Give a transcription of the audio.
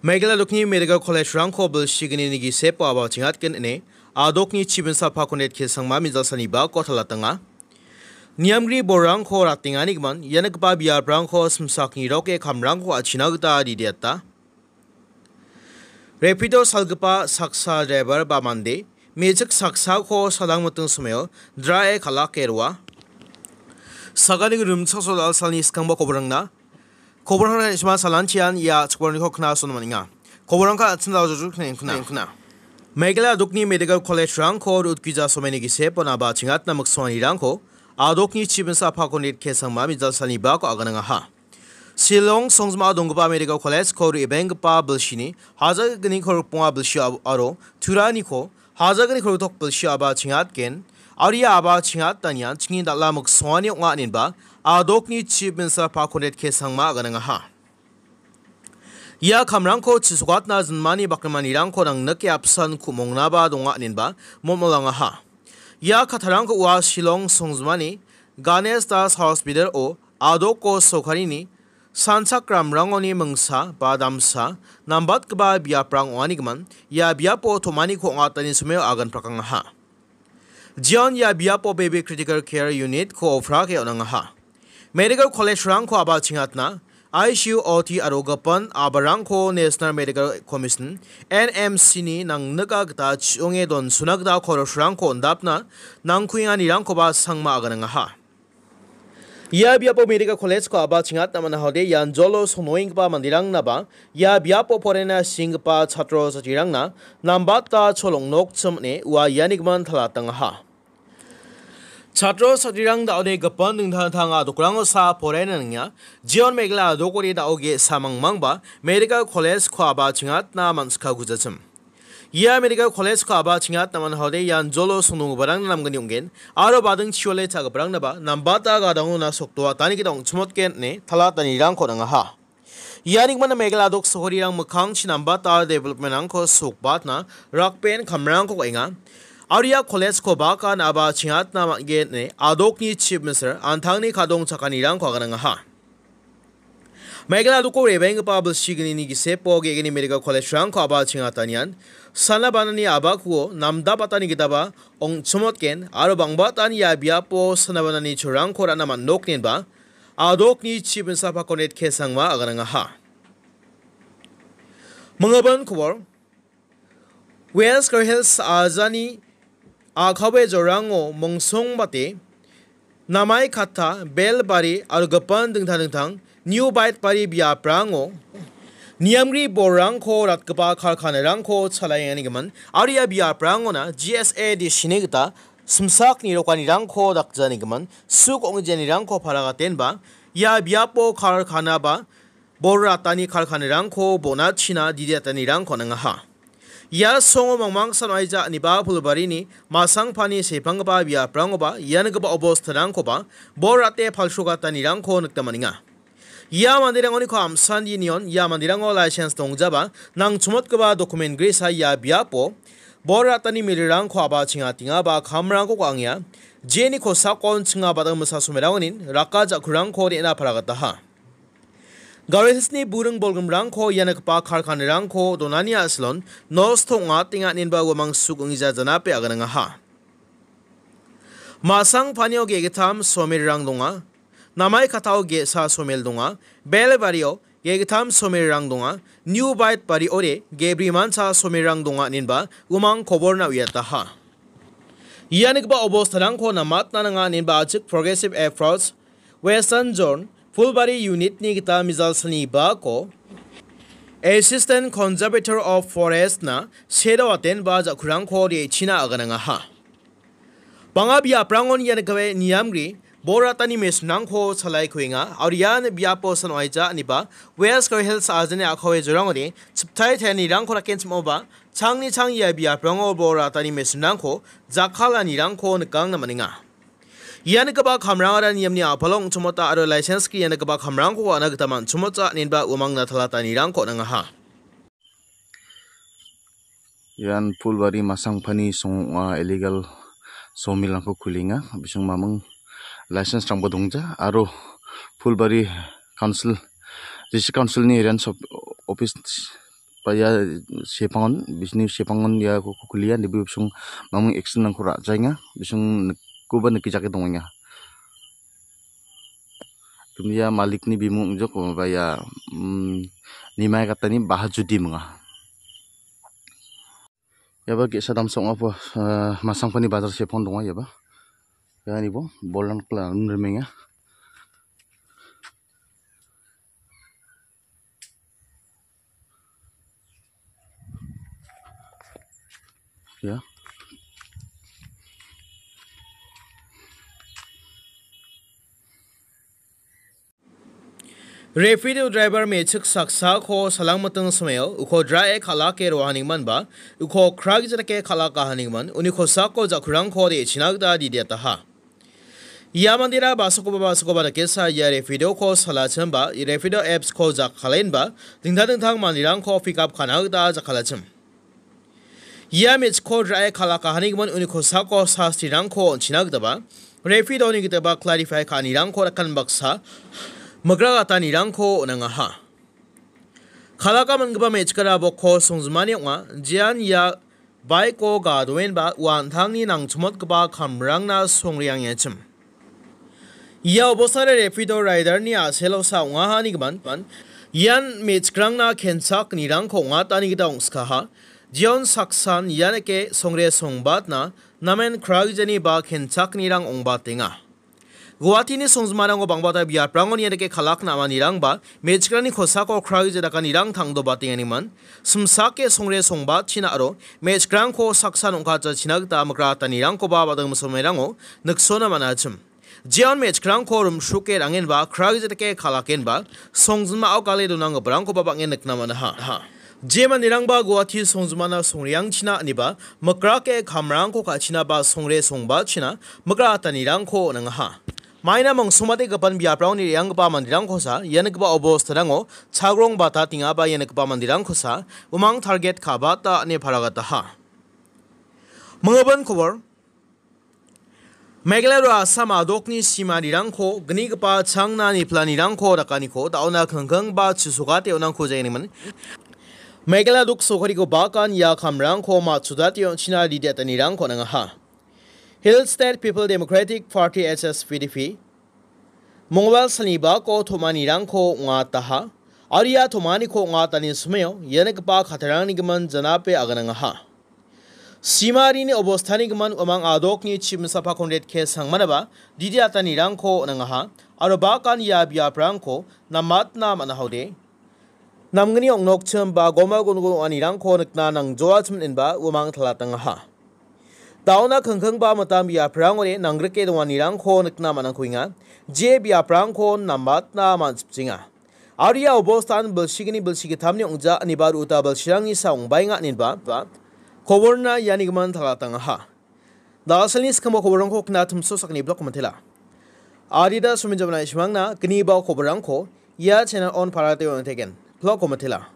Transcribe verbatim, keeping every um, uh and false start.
Meghalaya dokni Medical College-rangko bilsignini gisepo aba chingatgen ine adokni chibinsa Pakondet Kesangma mijalsani bako talatenga. Niamgri borrangko ratenganigimin ianikoba biaprangko simsakni roke kamrangko achina gita didiata. Rapido salgipa saksa driver ba mande, mejik saksako salang miting someo drae kalake roa. Sagani rimchaksoa salni skangba koborangna. Koborangna isma salanchian ia chikborniko knason maninga. Koborangka atsin dao jujuk kna. Meghalaya dokni Medical College-rangko rutgija someni gisepo naba chingatna miksonganirangko adokni chibinsa Pakondet Kesangma mijalsani bako aganangaha. Shillong songjima donggipa Medical College-ko re·benggipa bilsini hajalgni korokbonga bilsi ab-, aro Turaniko hajalgni koroktok bilsi aba chingatgen, aro ia aba chingatanian chingni dal·a miksongani ong·a inenba adokni Chief Minister Pakondet Kesangma aganangaha. Ia kamrangko chisokatna jinmani bakrimanirangko nangnike apsan ku·mongnaba donga inenba mommolangaha. Ia kattarangko ua Shillong songjimani Ganesh Das Hospital-o adoko sorkarini sanchakramrangoni mingsa ba damsa nambatgipa biaprang ong·anigimin ia biapo tom·aniko ong·atani someo agan prakangaha. Jeon ia biapo Baby Critical Care Unit-ko oprake on·angaha. Medical College-rangko aba chingatna, I C U, O T aro gipin abarangko National Medical Commission, N M C-ni nangnika gita chi·onge donsona gita koros-rangko on·dapna nangkuenganirangkoba sangma aganangaha. Ia biapo Medical College-ko aba chingatna man·ahode ian jolo songnoenggipa manderangnaba ia biapo porena singgipa chatro chatirangna nambata cholong nokchim ine ua ianigimin talatangaha. Chatro chatrirang da·ode gipin dingtang dingtang adokrango sa poraienga. Jeon Meghalaya adokode da·o ge·sa mangmangba Medical College-ko aba chingatna man·sika gujachim. Ia Medical College-ko aba chingatna man·ahode ian jolo songnonggiparangna namgni ong·gen, aro bading chiole cha·giparangnaba nambata gadangona sokdoatani gita ong·chimotgen ine talatanirangko nangaha. Ianigimin Meghalaya dok sohorirang mikkangchi nambata development-rangko sokbatna rakben kamrangko ka·enga. Aro ia college-ko baka naba chingatna man·gen ine adokni Chief Minister an·tangni kadong chakanirangko aganangaha. Meghalaya doko re·baenggipa bilsignini gisepo ge·gni Medical College-rangko aba chingatanian, sana banani abakuo namdabatani gitaba ong·chimotgen aro bang·batan ia biapo sana banani cholrangko ra·na man·noknenba adokni Chief Minister Pakondet Kesangma aganangaha. Manggipa kobor, West Garo Hills ajani a·kawe jorango mongsongbate Namaikatta, Belbari aro gipin dingtang dingtang New Baitbari biaprango niamgri borrangko ratgipa karkanarangko chalaengani gimin aro ia biaprangona G S A D C-ni gita simsak nirokanirangko dakjani gimin suk ong·janirangko paragatenba ia biapo karkanaba bor ratani karkanirangko bonachina didiatanirangko nangaha. Ia songo mangmangsan aija aniba Phulbarini Masangpani sepanggipa biaprangoba ianigipa obostarangkoba bor rate palsrogatanirangko nikna man·enga. Ia manderangoniko amsan dinion ia manderango license dongjaba nangchomotgipa document gresa ia biapo bor ratani milirangko aba chingatenga ba kamrangko ka·angenga. Jeni kosakon chinga badang misa somerangonin raka ja·kurangko re·na paragataha. Garo Hills-ni buring bolgrimrangko ianigipa karkanirangko donani a·silon nosto ong·atenga inenba uamang suk ong·ija janape aganangaha. Masangpanio ge·gittam somirrang donga. Namaikattao ge·sa somir donga. Belbario ge·gittam somirrang donga. New Baitbariore ge·brimancha somirrang donga inenba uamang koborna uiataha. Ianigipa obostarangko namatna nanga inenba ajik Progressive Approach Western Zone Phulbari Unit-ni gita mijalsani bako Assistant Conservator of Forest-na sedoatenba ja·kurangko re·china aganangaha. Bang·a biaprangon ianikoe niamgri bor ratani mesinrangko chalae kuenga, aro ia biapo san oaija aniba West Garo Hills ajani a·kawe jorangode chiptai tarianirangko rakenchim·oba changni chang ia biaprango bor ratani mesinrangko jakkalanirangko nikangna man·enga. Ianigipa kamrangara niamni a·palo ong·chimota aro license-gi ianigipa kamrangko wa·na gita man·chimota inenba uamangna talatanirangko nangaha. Ian Phulbari Masangpani song ong·a, illegal sawmilrangko kulenga. Bising maming license-rangba dongja aro Phulbari Council, District Council-ni range of office ba ia sepangon, bisingni sepangon iako kukulia, nibi bising mamung action-rangko ra·jaenga, bising nikkoba nikijake dongenga. Kimia malikni bimung ong·jok, ba ia, um, nimai katani baha judi minga. Iaba ge·sa damsa ong·a po, ah, Masangpani bajar sepon donga iaba. Iani bo bolrang kla rimrimenga. Ya. Rapido driver me·chik saksako salangmiting simeo uko drae kal·ake roahanigimon ba uko kragijatake kal·akahanigimon uni kosako jakurangko re·china gita didiataha. Ia mandera basakoba basakoba dakesa ia Rapidoko salachimba Rapido apps-ko jakkalenba dingtang dingtang manderangko pick up ka·na gita jakkalachim. Ia me·chikko drae kal·akahanigimon uni kosako sastirangko on·china gitaba, Rapidoni gitaba clarify ka·anirangko rakan baksa migra gatanirangko on·angaha. Kal·aka man·gipa me·chikara bokko songjinmani ong·a, jean ia baiko gadoenba ua an·tangni nangchimotgipa kamrangna songreangengachim. Ia obostare Rapido riderni a·selosa ong·ahanigimin, ian me·chikrangna kenchaknirangko ong·atani gita ong·skaha. Jeon saksan ianike songre songbatna namen kragijani ba kenchaknirang ong·batenga. Guahatini songjinmarango bangbata biaprangon ianike kal·akna amanirangba me·chikrangni kosako kragija dakanirang tangdobatenganiman, simsake songre songbatchina aro me·chikrangko saksan ong·katjachina gita mikratanirangkoba bading misomerango niksona man·achim. Jeon me·chikrangko rimsroke ra·angenba, kragija dake kal·akenba, songjinmao gale donanggiparangkoba bang·en nikna man·aha. Je manderangba Guwahati songjinmana songreangchina iniba, mikrake kamrangko ka·china ba songre songbatchina mikratanirangko on·angaha. Maina mongsongbategipan biaprangni re·anggipa manderangkosa, ia nikgipa obostarango chagrong batatenga ba ia nikgipa manderangkosa, umang target ka·bata ine paragataha. Minggipa kobor. Meghalaya aro Assam a·dokni simanirangko gnigipa changna niplanirangko dakaniko da·ona kingking ba chisokate on·angko jengniman. Meghalaya duk sokariko bakan ia kamrangko matchudate on·china ridiatanirangko on·angaha. Hill State People Democratic Party, H S P D P, Mongolbar salni bako tom·anirangko ong·ataha. Aro ia tom·aniko ong·atani somao ia nikgipa katarangni gimin janape aganangaha. Simarini obostani gimin uamang a·dokni chibimsapa Conrad K Sangmanaba didiatanirangko on·angaha. Aro bakan ia biaprangko namatna man·ahode. Namgni ong·nokchim ba goma gun-, gun-, ong·anirangko nikna nangjoachim inba uamang talatangaha. Da·ona kingking ba mitam biaprangode nanggrike donganirangko nikna man·angkuenga. Je biaprangko namatna man·sipchenga. Aro ia obostan bilsigni bilsigitamni ong·ja iniba ru·uta bilsirangni sa ong·baenga inenba, ba, koborna iani gimin talatangaha. Dasalni skangbo koborrangko kna timso sakni blog komentela. Adida suminjamna isimangna gniba koborrangko ia channel on parate on tegen. Blog komentela.